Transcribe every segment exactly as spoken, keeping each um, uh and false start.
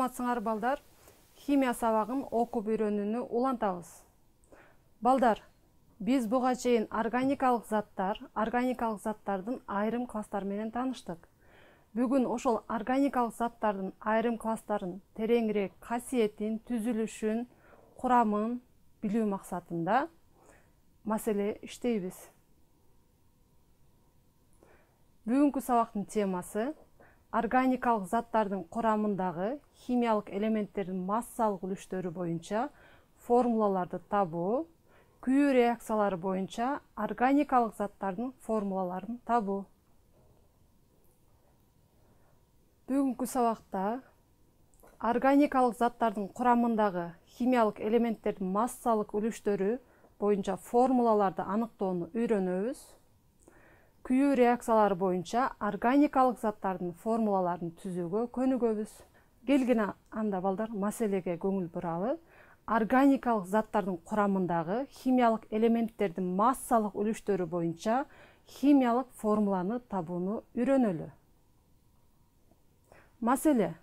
Саламатсыңар балдар, химия сабагын окуп үйрөнүүнү улантабыз. Балдар, биз буга чейин органикалык заттар, органикалык заттардын айрым класстары менен тааныштык. Бүгүн ошол органикалык заттардын айрым класстарын тереңирээк касиетин, түзүлүшүн, курамын билүү максатында маселе иштейбиз. Бүгүнкү сабактын темасы органикалык заттардын курамындагы химиялык элементтердин массалык үлүштөрү боюнча формулаларды табуу, күйүү реакциялары боюнча органикалык заттардын формулаларын табуу. Бүгүнкү сабакта органикалык заттардын курамындагы химиялык элементтердин массалык үлүштөрү боюнча формулаларды аныктоону үйрөнөбүз. Күйүү реакциялары боюнча органикалык заттардын формулаларын түзүүгө көнүгөбүз. Келгиле анда балдар маселеге көңүл буралы. Органикалык заттардын курамындагы химиялык элементтердин массалык үлүштөрү боюнча химиялык формуланы табууну үйрөнөлү. Маселе.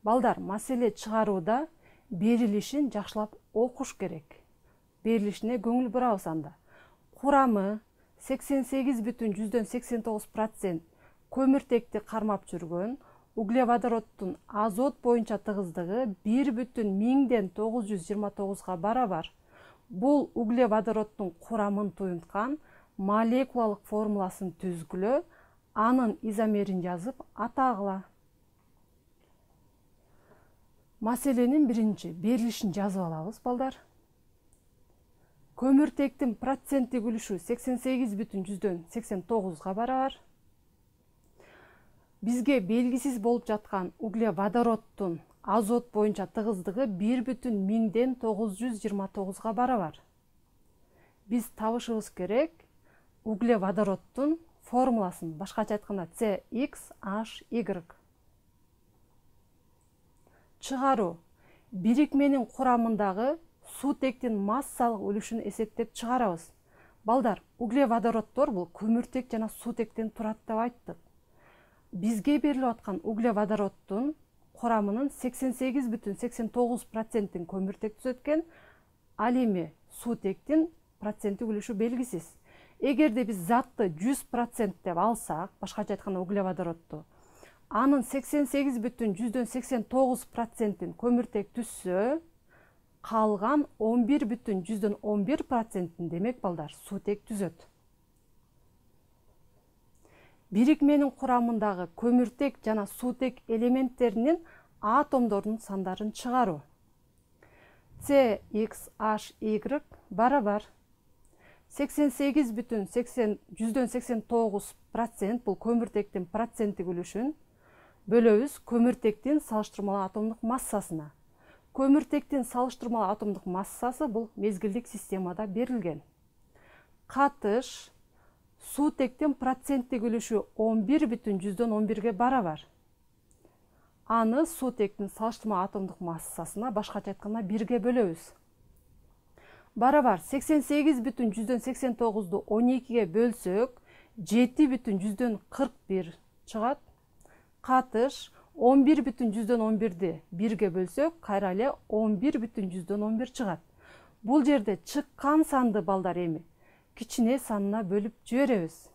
Балдар, маселе чыгарууда берилишин жакшылап окуш керек. Берилишине көңүл бурабыз анда. Курамы сексен сегиз бүтүн жүздөн сексен тогуз процент көмүртекти кармап жүргөн, углеводороддун азот боюнча тыгыздыгы бир бүтүн миңден тогуз жүз жыйырма тогузга барабар. Бул углеводороддун курамын туюнткан молекулалык формуласын түзгүлө, анын изомерин жазып атагыла. Маселенин биринчи берилишин жазып алабыз, балдар. Көмүртектин проценттик үлүшү сексен сегиз бүтүн жүздөн сексен тогузга барабар. Бизге белгисиз болуп жаткан углеводороддун азот боюнча тыгыздыгы бир бүтүн миңден тогуз жүз жыйырма тогузга барабар. Биз табышыбыз керек углеводороддун формуласын, башкача айтканда си икс эйч игрек. Чыгаруу. Бирикменин курамындагы суутектин массалык үлүшүн эсептеп чыгарабыз. Балдар, углеводороддор бул көмүртек жана суутектен турат деп айттык. Бизге берилип аткан углеводороддун курамынын сексен сегиз бүтүн сексен тогуз процентин көмүртек түзөткөн, ал эми суутектин проценттик үлүшү белгисиз. Эгерде биз затты жүз процент деп алсак, башкача айтканда углеводородду, анын сексен сегиз бүтүн жүздөн сексен тогуз процентин көмүртек түзсө, калган он бир бүтүн жүздөн он бир процентин демек балдар суутек түзөт. Бирикменин курамындагы көмүртек жана суутек элементтеринин атомдордун сандарын чыгаруу. си икс эйч игрек барабар сексен сегиз бүтүн жүздөн сексен тогуз процент бул көмүртектин проценттик үлүшүн бөлөбүз көмүртектин салыштырмалуу атомдук массасына. Көмүртектин салыштырмалуу атомдук массасы бул мезгилдик системада берилген. Катыш суутектин проценттик үлүшү он бир бүтүн жүздөн он бирге барабар. Аны суутектин салыштырмалуу атомдук массасына, башкача айтканда бирге бөлөбүз. Барабар сексен сегиз бүтүн жүздөн сексен тогузду он экиге бөлсөк, жети бүтүн жүздөн кырк бир чыгат. Катыш он бир бүтүн жүздөн он бирди бирге бөлсөк, кайра эле он бир бүтүн жүздөн он бир чыгат. Бул жерде чыккан санды балдар эми кичине санына бөлүп жиберебиз.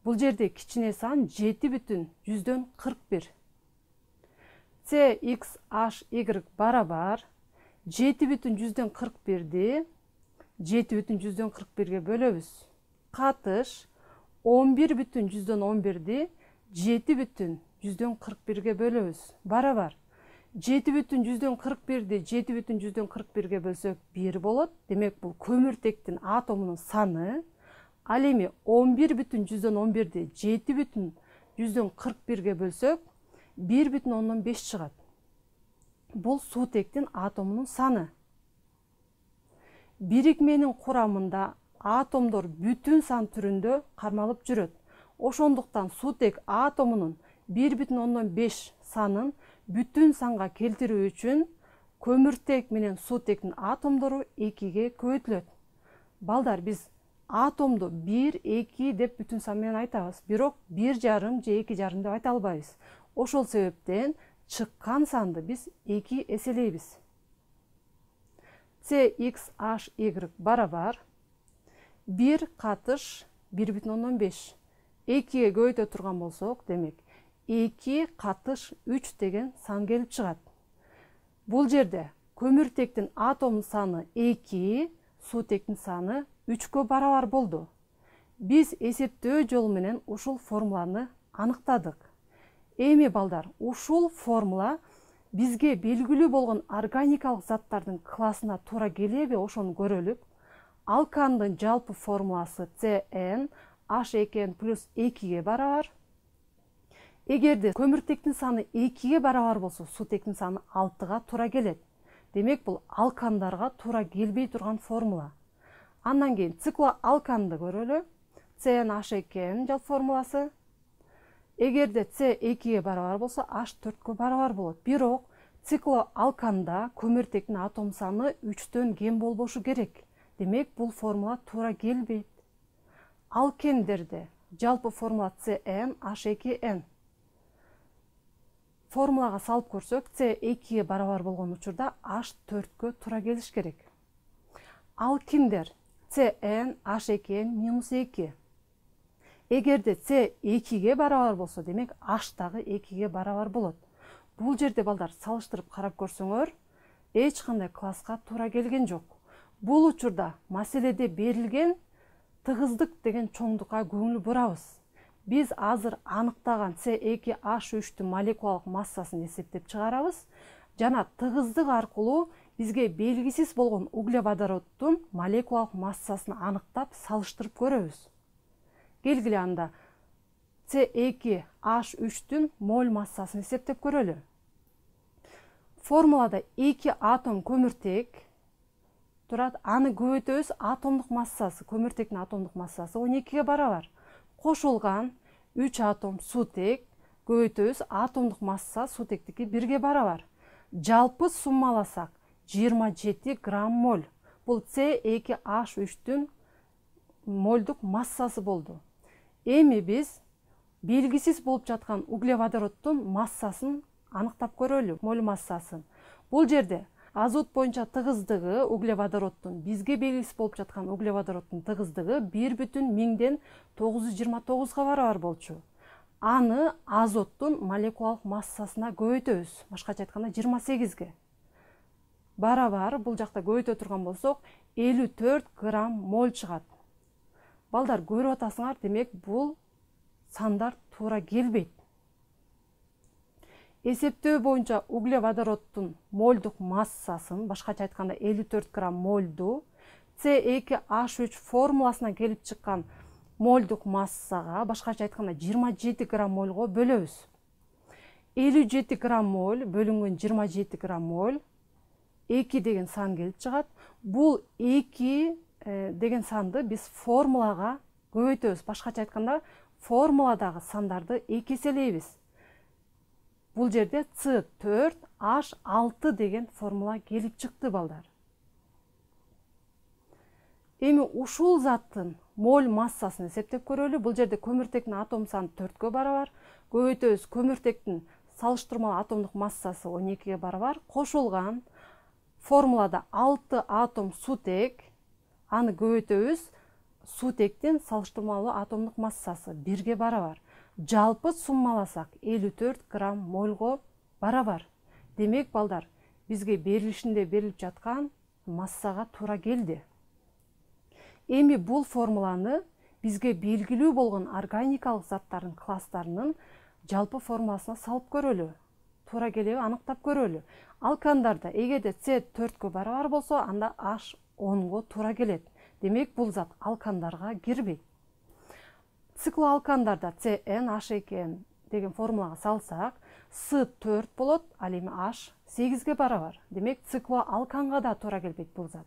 Бул жерде кичине сан жети бүтүн жүздөн кырк бир. си икс эйч игрек барабар жети бүтүн жүздөн кырк бирди жети бүтүн жүздөн кырк бирге бөлөбүз. Катыш он бир бүтүн жүздөн он бирди жети бүтүн жүздөн кырк бирге бөлөбүз. Барабар жети бүтүн жүздөн кырк бирди жети бүтүн жүздөн кырк бирге бөлсөк бир болот. Демек бул көмүртектин атомунун саны. Ал эми он бир бүтүн жүздөн он бирди жети бүтүн жүздөн кырк бирге бөлсөк бир бүтүн ондон беш чыгат. Бул суутектин атомунун саны. Бирикменин курамында атомдор бүтүн сан түрүндө кармалып жүрөт. Ошондуктан суутек атомунун бир бүтүн ондон беш санын бүтүн санга келтирүү үчүн көмүртек менен суутектин атомдору экиге көбөйтүлөт. Балдар, биз атомду бир, эки деп бүтүн сан менен айтабыз. Бирок бир жарым же эки жарым деп айта албайбыз. Ошол себептен чыккан санды биз эки эселейбиз. С икс аш y барабар бир катыш бир бүтүн ондон беш. экиге көбөйтө турган болсок, демек эки катыш үч деген сан келип чыгат. Бул жерде көмүртектин атом саны эки, суутектин саны үчкө барабар болду. Биз эсептөө жолу менен ушул формуланы аныктадык. Эми балдар, ушул формула бизге белгилүү болгон органикалык заттардын классына туура келеби, ошону көрөлүк. Алкандын жалпы формуласы С Н H эки N плюс экиге барабар. Эгерде көмүртектин саны экиге барабар болсо, суутектин саны алтыга туура келет. Демек, бул алкандарга туура келбей турган формула. Андан кийин циклоалканды көрөлү. С Н H эки N жалпы формуласы. Эгерде С экиге барабар болсо, H төрткө барабар болот. Бирок циклоалканда көмүртектин атом саны үчтөн кем болбошу керек. Демек, бул формула туура келбейт. Алкендерде жалпы формула С Н H эки N. Формулага салып көрсөк, С экиге барабар болгон учурда H төрткө туура келиш керек. Алкиндер С Н H эки N минус эки. Эгерде С экиге барабар болсо, демек H дагы экиге барабар болот. Бул жерде балдар салыштырып карап көрсөңөр, эч кандай класска туура келген жок. Бул учурда маселеде берилген тыгыздык деген чоңдукка көңүл бурабыз. Биз азыр аныктаган С эки H үчтүн молекулалык массасын эсептеп чыгарабыз жана тыгыздык аркылуу бизге белгисиз болгон углеводороддун молекулалык массасын аныктап салыштырып көрөбүз. Келгиле анда С эки H үчтүн моль массасын эсептеп көрөлү. Формулада эки атом көмүртек турат, аны көбөйтөбүз, атомдук массасы, көмүртектин атомдук массасы он экиге барабар. Кошулган үч атом суутек көбөйтөбүз, атомдук масса суутектики бирге барабар. Жалпы суммаласак жыйырма жети грамм моль. Бул С эки H үчтүн мольдук массасы болду. Эми биз белгисиз болуп жаткан углеводороддун массасын аныктап көрөлү, моль массасын. Бул жерде азот боюнча тыгыздыгы углеводороддун, бизге белгисиз болуп жаткан углеводороддун тыгыздыгы бир бүтүн миңден тогуз жүз жыйырма тогузга барабар болчу. Аны азоттун молекулалык массасына көбөйтөбүз, башкача айтканда жыйырма сегизге. Барабар, бул жакта көбөйтө турган болсок, элүү төрт грамм моль чыгат. Балдар, көрүп атасыңар, демек бул сандар туура келбейт. Эсептөө боюнча углеводороддун мольдук массасын, башкача айтканда элүү төрт грамм мольду, С эки H үч формуласынан келип чыккан мольдук массага, башкача айтканда жыйырма жети грамм мольго бөлөбүз. элүү жети грамм моль бөлүнгөн жыйырма жети грамм моль эки деген сан келип чыгат. Бул эки деген санды биз формулага көбөйтөбүз. Башкача айтканда формуладагы сандарды эки эселейбиз. Бул жерде С төрт H алты деген формула келип чыкты, балдар. Эми ушул заттын моль массасын эсептеп көрөлү. Бул жерде көмүртектин атом саны төрткө барабар. Көбөйтөбүз, көмүртектин салыштырмалуу атомдук массасы он экиге барабар. Кошулган формулада алты атом суутек, аны көбөйтөбүз, суутектин салыштырмалуу атомдук массасы бирге барабар. Жалпы суммаласак элүү төрт грамм мольго барабар. Демек, балдар, бизге берилишинде берилип жаткан массага туура келди. Эми бул формуланы бизге белгилүү болгон органикалык заттардын класстарынын жалпы формуласына салып көрөлү. Туура келеби аныктап көрөлү. Алкандарда эгерде С төрткө барабар болсо, анда H онго туура келет. Демек, бул зат алкандарга кирбейт. Циклоалкандарда С Н H эки N деген формулага салсак, С төрт болот, ал эми H сегизге барабар. Демек, циклоалканга да туура келбейт бул зат.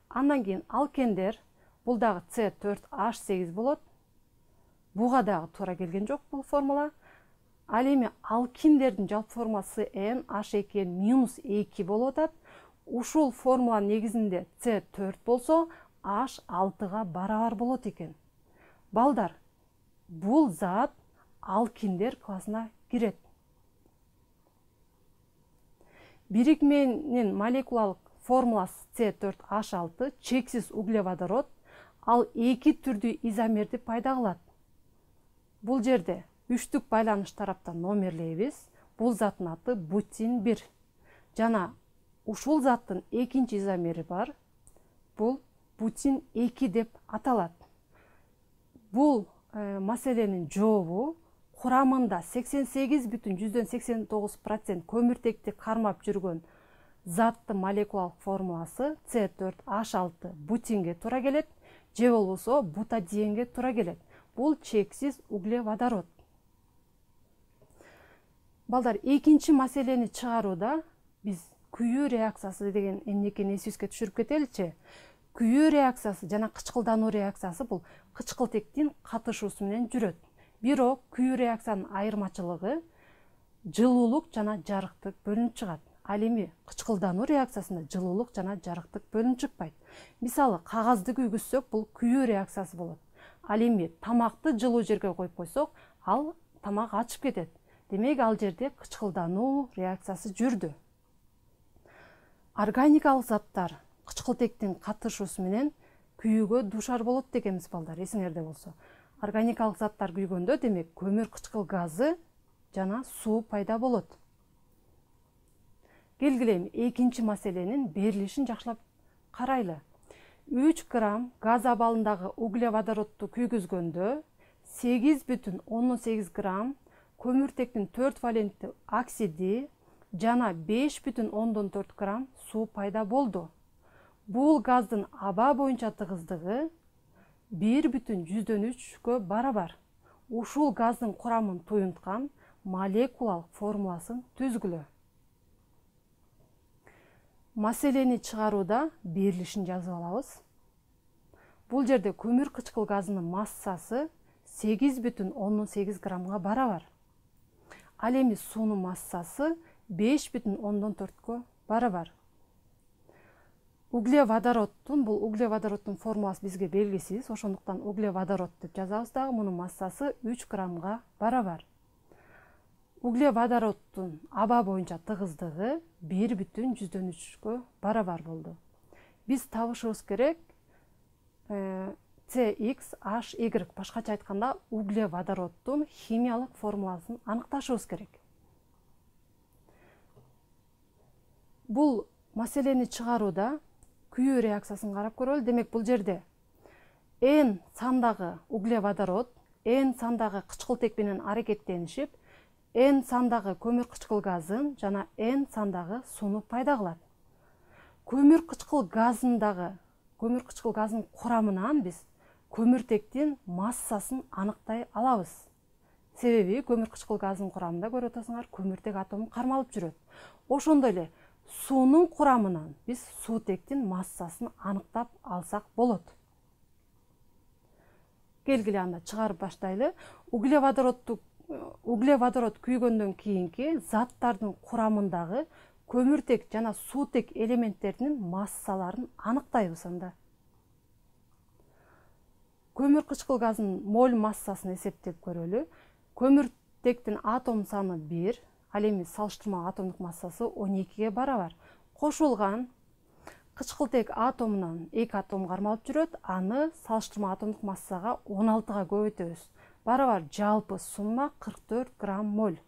Андан кийин алкендер, бул дагы С төрт H сегиз болот. Буга дагы туура келген жок бул формула. Ал эми алкиндердин жалпы формуласы С Н H эки N минус эки болуп атат. Ушул формуланын негизинде С төрт болсо, H алтыга барабар болот экен. Балдар, бул зат алкиндер классына кирет. Бирикменин молекулалык формуласы С төрт H алты чексиз углеводород, ал эки түрдүү изомерди пайда кылат. Бул жерде үчтүк байланыш тараптан номерлейбиз. Бул заттын аты бутин бир. Жана ушул заттын экинчи изомери бар. Бул бутин эки деп аталат. Бул э, маселенин жообу курамында сексен сегиз бүтүн жүздөн сексен тогуз процент көмүртекти кармап жүргөн заттын молекулалык формуласы С төрт H алты бутинге туура келет, же болбосо бутадиенге туура келет. Бул чексиз углеводород. Балдар, экинчи маселени чыгарууда биз күйүү реакциясы деген эмнекени эсибизге түшүрүп кетеличи. Күйүү реакциясы жана кычкылдануу реакциясы бул кычкылтектин катышуусу менен жүрөт. Бирок күйүү реакциянын айырмачылыгы жылуулук жана жарыктык бөлүнүп чыгат. Ал эми кычкылдануу реакциясында жылуулук жана жарыктык бөлүнүп чыкпайт. Мисалы, кагазды күйгүзсөк, бул күйүү реакциясы болот. Ал эми тамакты жылуу жерге коюп койсок, ал тамак ачып кетет. Демек, ал жерде кычкылдануу реакциясы жүрдү. Органикалык заттар кычкылтектин катышуусу менен күйүүгө дуушар болот дегенбиз, балдар, эсиңерде болсо. Органикалык заттар күйгөндө, демек, көмүр кычкыл газы жана суу пайда болот. Келгиле эми экинчи маселенин берилишин жакшылап карайлы. үч грамм газ абалындагы углеводородду күйгүзгөндө сегиз бүтүн ондон сегиз грамм көмүртектин төрт валентті оксиди жана беш бүтүн ондон төрт грамм суу пайда болду. Бул газдын аба боюнча тыгыздыгы бир бүтүн жүздөн үчкө барабар. Ушул газдын курамын туюнткан молекулалык формуласын түзгүлө. Маселени чыгарууда берилишин жазып алабыз. Бул жерде көмүр кычкыл газынын массасы сегиз бүтүн ондон сегиз граммга барабар. Ал эми суунун массасы беш бүтүн ондон төрткө барабар. Углеводороддун, бул углеводороддун формуласы бизге белгисиз, ошондуктан углеводород деп жазабыз дагы, мунун массасы үч граммга барабар. Углеводороддун аба боюнча тыгыздыгы бир бүтүн жүздөн үчкө барабар болду. Биз табышыбыз керек э, С Х H Y, башкача айтканда углеводороддун химиялык формуласын аныкташыбыз керек. Бул маселени чыгарууда күйүү реакциясын карап көрөлү. Демек, бул жерде N сандагы углеводород N сандагы кычкылтек менен аракеттенишип, N сандагы көмүр кычкыл газын жана N сандагы сууну пайда кылат. Көмүр кычкыл газындагы көмүр кычкыл газынын курамынан биз көмүртектин массасын аныктай алабыз. Себеби көмүр кычкыл газынын курамында көрүп атасыңар, көмүртек атому кармалып жүрөт. Ошондой эле суунун курамынан биз суутектин массасын аныктап алсак болот. Келгиле анда чыгарып баштайлы. Углеводородду углеводород күйгөндөн кийинки заттардын курамындагы көмүртек жана суутек элементтеринин массаларын аныктайбыз анда. Көмүр кычкыл газынын моль массасын эсептеп көрөлү. Көмүртектин атом саны бир, ал эми салыштырмалуу атомдук массасы он экиге барабар. Кошулган кычкылтек атомунан эки атом кармалып жүрөт, аны салыштырмалуу атомдук массага он алтыга көбөйтөбүз. Барабар жалпы сумма кырк төрт грамм моль.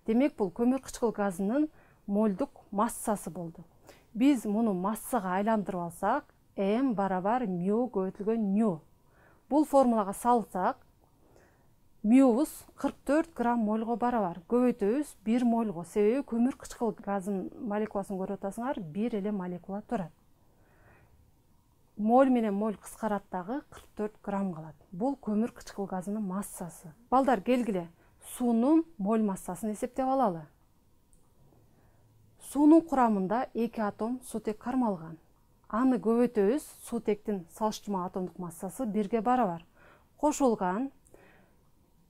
Демек, бул көмүр кычкыл газынын мольдук массасы болду. Биз муну массага айландырып алсак, М барабар мю көбөйтүлгөн ню. Бул формулага салсак, мюбуз кырк төрт грамм мольго барабар. Көбөйтөбүз бир мольго. Себеби көмүр кычкыл газынын молекуласын көрүп атасыңар, бир эле молекула турат. Моль менен моль кыскарат дагы кырк төрт грамм калат. Бул көмүр кычкыл газынын массасы. Балдар, келгиле суунун моль массасын эсептеп алалы. Суунун курамында эки атом суутек кармалган. Аны көбөйтөбүз, суутектин салыштырмалуу атомдук массасы бирге барабар. Кошулган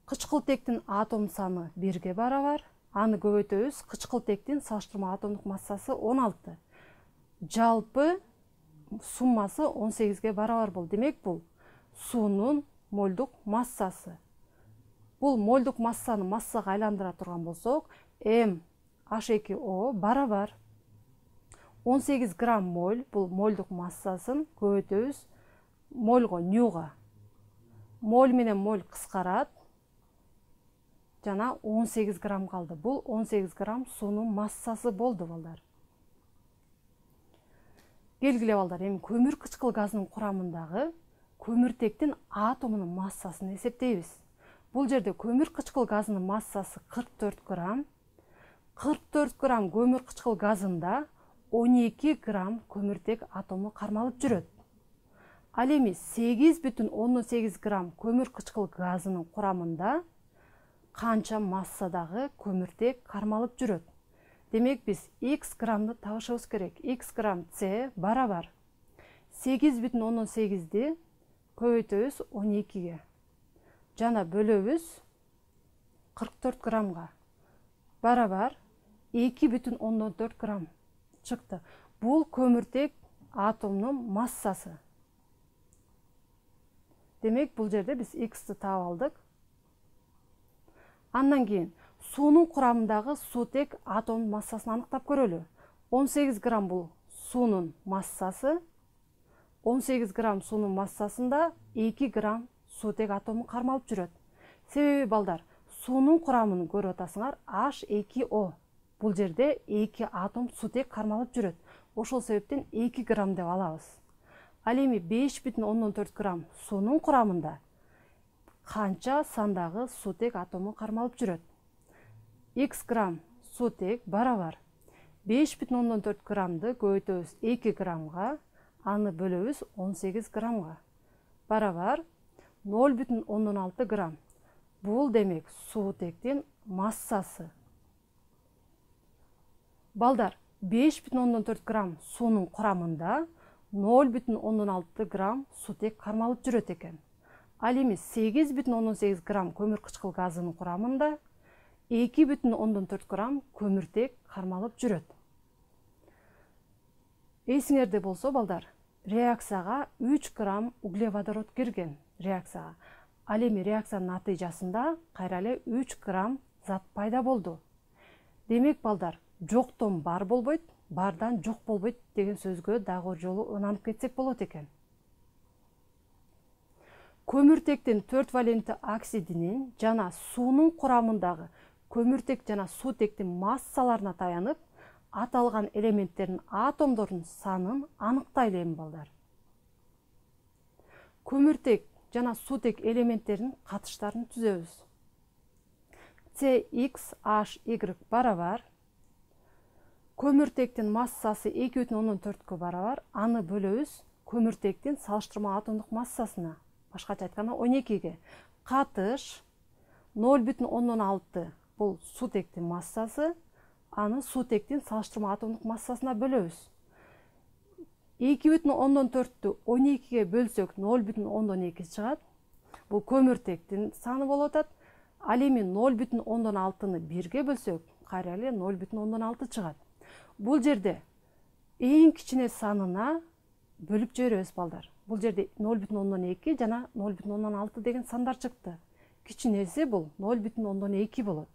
кычкылтектин атом саны бирге барабар. Аны көбөйтөбүз, кычкылтектин салыштырмалуу атомдук массасы он алты. Жалпы суммасы он сегизге барабар болду. Демек, бул суунун мольдук массасы. Бул мольдук массаны массага айландыра турган болсок, М H эки O барабар он сегиз грамм моль, бул мольдук массасын көбөйтөбүз мольго, нюга. Моль менен моль кыскарат. Жана он сегиз грамм калды. Бул он сегиз грамм суунун массасы болду, балдар. Келгиле, балдар, эми көмүр кычкыл газынын курамындагы көмүртектин атомунун массасын эсептейбиз. Бул жерде көмүр кычкыл газынын массасы кырк төрт грамм. кырк төрт грамм көмүр кычкыл газында он эки грамм көмүртек атому кармалып жүрөт. Ал эми сегиз бүтүн ондон сегиз грамм көмүр кычкыл газынын курамында канча массадагы көмүртек кармалып жүрөт? Демек, биз X граммды табышыбыз керек. X грамм С барабар сегиз бүтүн ондон сегизди көбөйтөбүз он экиге. Жана бөлөбүз кырк төрт граммга. Барабар эки бүтүн ондон төрт грамм чыкты. Бул көмүртек атомунун массасы. Демек, бул жерде биз X'ти таап алдык. Андан кийин суунун курамындагы суутек атомунун массасын аныктап көрөлү. он сегиз грамм бул суунун массасы. он сегиз грамм суунун массасында эки грамм суутек атому кармалып жүрөт. Себеби, балдар, суунун курамын көрүп атасыңар, H эки O. Бул жерде эки атом суутек кармалып жүрөт. Ошол себептен эки грамм деп алабыз. Ал эми беш бүтүн ондон төрт грамм суунун курамында канча сандагы суутек атому кармалып жүрөт? X грамм суутек барабар беш бүтүн ондон төрт граммды көбөйтөбүз эки граммга, аны бөлөбүз он сегиз граммга. Барабар ноль бүтүн ондон алты грамм. Бул демек суутектин массасы. Балдар, беш бүтүн ондон төрт грамм суунун курамында ноль бүтүн ондон алты грамм суутек кармалып жүрөт экен. Ал эми сегиз бүтүн ондон сегиз грамм көмүр кычкыл газынын курамында эки бүтүн ондон төрт грамм көмүртек кармалып жүрөт. Эсиңерде болсо, балдар, реакцияга үч грамм углеводород кирген реакцияга. Ал эми реакциянын натыйжасында кайра эле үч грамм зат пайда болду. Демек, балдар, жоктон бар болбойт, бардан жок болбойт деген сөзгө дагы жолу ынанып кетсек болот экен. Көмүртектин төрт валентті оксидинин жана суунун курамындагы көмүртек жана суутектин массаларына таянып, аталган элементтердин атомдорунун санын аныктайлы эми, балдар. Көмүртек жана суутек элементтеринин катыштарын түзөбүз. С X H Y барабар көмүртектин массасы эки бүтүн ондон төрткө барабар, аны бөлөбүз көмүртектин салыштырма атомдук массасына, башкача айтканда он экиге. Катыш ноль бүтүн ондон алты бул суутектин массасы, аны суутектин салыштырма атомдук массасына бөлөбүз. эки бүтүн ондон төрттү он экиге бөлсөк ноль бүтүн ондон эки чыгат. Бул көмүртектин саны болуп атат. Ал эми ноль бүтүн ондон алтыны бирге бөлсөк, кайра эле ноль бүтүн ондон алты чыгат. Бул жерде эң кичине санына бөлүп жиберебиз, балдар. Бул жерде ноль бүтүн ондон эки жана ноль бүтүн ондон алты деген сандар чыкты. Кичинеси бул ноль бүтүн ондон эки болот.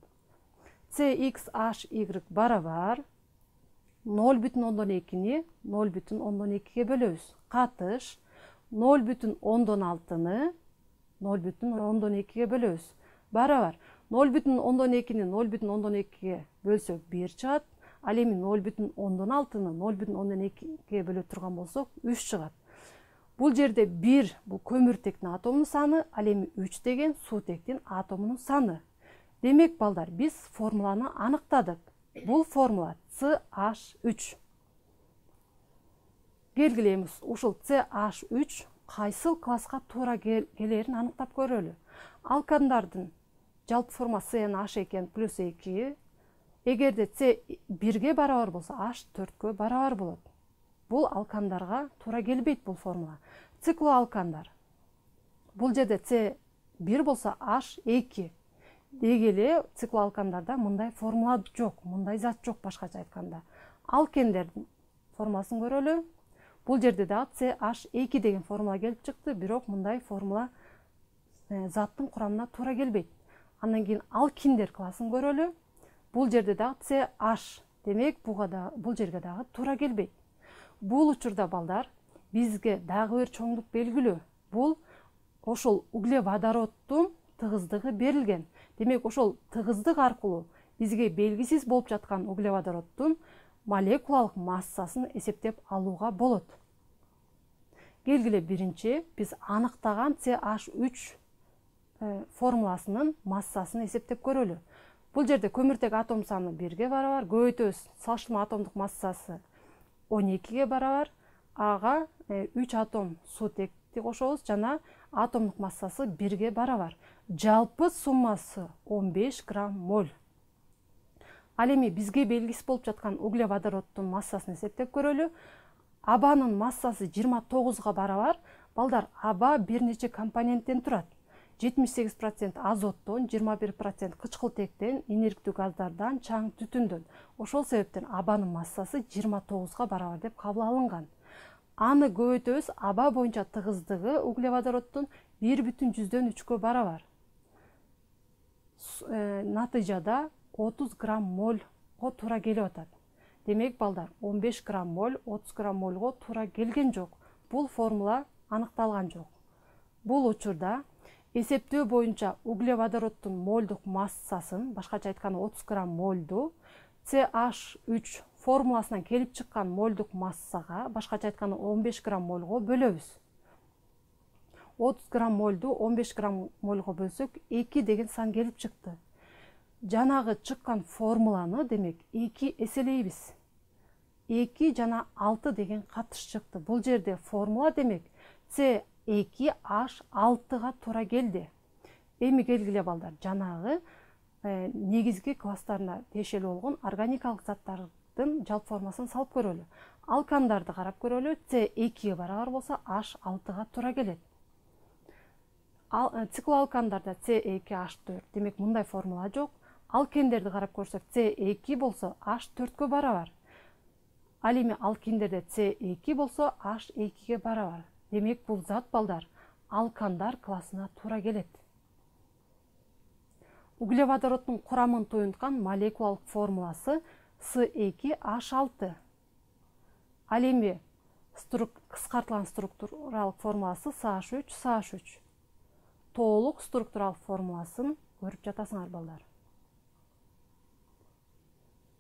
С X H Y барабар ноль бүтүн ондон экини ноль бүтүн ондон экиге бөлөбүз. Катыш ноль бүтүн ондон алтыны ноль бүтүн ондон экиге бөлөбүз. Барабар ноль бүтүн ондон экини ноль бүтүн ондон экиге бөлсөк бир чыгат. Ал эми ноль бүтүн ондон алтыны ноль бүтүн ондон экиге бөлө турган болсок үч чыгат. Бул жерде бир бул көмүртектин атомунун саны, ал эми үч деген суутектин атомунун саны. Демек, балдар, биз формуланы аныктадык. Бул формула С H үч. Келгиле эми ушул С H үч кайсыл класска туура келерин аныктап көрөлү. Алкандардын жалпы формасы С H экен плюс эки. Эгерде С бирге барабар болсо, H төрткө барабар болот. Бул алкандарга туура келбейт бул формула. Циклоалкандар. Бул жерде С бир болсо, H эки. Дегеле циклоалкандарда мындай формула жок, мындай зат жок, башкача айтканда. Алкендердин формуласын көрөлү. Бул жерде да С H эки деген формула келип чыкты, бирок мындай формула заттын курамына туура келбейт. Андан кийин алкиндер классын көрөлү. Бул жерде да С H Демек бул жерге дагы туура келбейт. Бул учурда балдар бизге дагы бир чоңдук белгилүү. Бул ошол углеводороддун тыгыздыгы берилген. Демек ошол тыгыздык аркылуу бизге белгисиз болуп жаткан углеводороддун молекулалык массасын эсептеп алууга болот. Келгиле биринчи биз аныктаган С H үч формуласынын массасын эсептеп көрөлү. Бул жерде көмүртек атом саны бирге барабар, көбөйтөбүз салыштырма атомдук массасы он экиге барабар, ага үч атом суутекти кошобуз жана атомдук массасы бирге барабар. Жалпы суммасы он беш грамм моль. Ал эми бизге белгисиз болуп жаткан углеводороддун массасын эсептеп көрөлү. Абанын массасы жыйырма тогузга барабар. Балдар, аба бир нече компоненттен турат. жетимиш сегиз процент азоттон, жыйырма бир процент кычкылтектен, инерктүү газдардан, чаң түтүндөн. Ошол себептен абанын массасы жыйырма тогузга барабар деп кабыл алынган. Аны көбөйтөбүз, аба боюнча тыгыздыгы углеводороддун бир бүтүн жүздөн үчкө барабар. Натыйжада отуз грамм мольго туура келип атат. Демек балдар, он беш грамм моль отуз грамм мольго туура келген жок. Бул формула аныкталган жок. Бул учурда эсептөө боюнча углеводороддун мольдук массасын, башкача айтканда отуз грамм мольду С H үч формуласынан келип чыккан мольдук массага, башкача айтканда он беш грамм мольго бөлөбүз. отуз грамм мольду он беш грамм мольго бөлсөк, эки деген сан келип чыкты. Жанагы чыккан формуланы демек эки эселейбиз. эки жана алты деген катыш чыкты. Бул жерде формула демек С эки H алтыга туура келди. Эми келгиле балдар, жанагы э, негизги класстарына тиешелүү болгон органикалык заттардын жалпы формуласын салып көрөлү. Алкандарды карап көрөлү. С экиге барабар болсо H алтыга туура келет. Ал, э, циклоалкандарда С эки H төрт. Демек мындай формула жок. Алкендерди карап көрсөк, С эки болсо H төрткө барабар. Ал эми алкиндерде С эки болсо H экиге барабар. Демек бул зат балдар алкандар классына туура келет. Углеводороддун курамын туюнткан молекулалык формуласы С эки H алты. Ал эми кыскартылган структуралык формуласы С H үч С H үч. Толук структуралык формуласын көрүп жатасыңар балдар.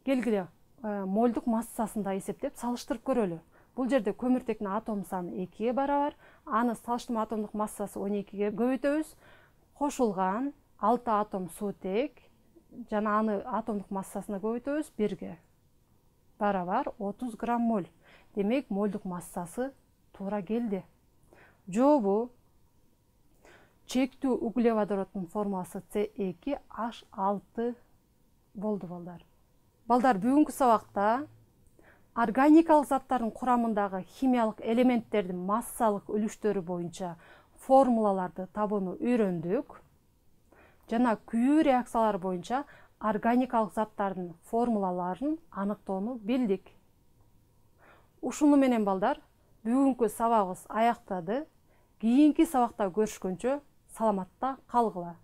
Келгиле мольдук массасын да эсептеп салыштырып көрөлү. Бул жерде көмүртектин атом саны экиге барабар, аны салыштырма атомдук массасы он экиге көбөйтөбүз. Кошулган алты атом суутек жана аны атомдук массасына көбөйтөбүз, бирге барабар отуз грамм моль. Демек мольдук массасы туура келди. Жобу чектүү углеводороддун формуласы С эки H алты болду балдар. Балдар, бүгүнкү сабакта органикалык заттардын курамындагы химиялык элементтердин массалык үлүштөрү боюнча формулаларды табууну үйрөндүк. Жана күйүү реакциялары боюнча органикалык заттардын формулаларын аныктоону билдик. Ушуну менен балдар, бүгүнкү сабагыбыз аяктады. Кийинки сабакта көрүшкөнчө саламатта калгыла.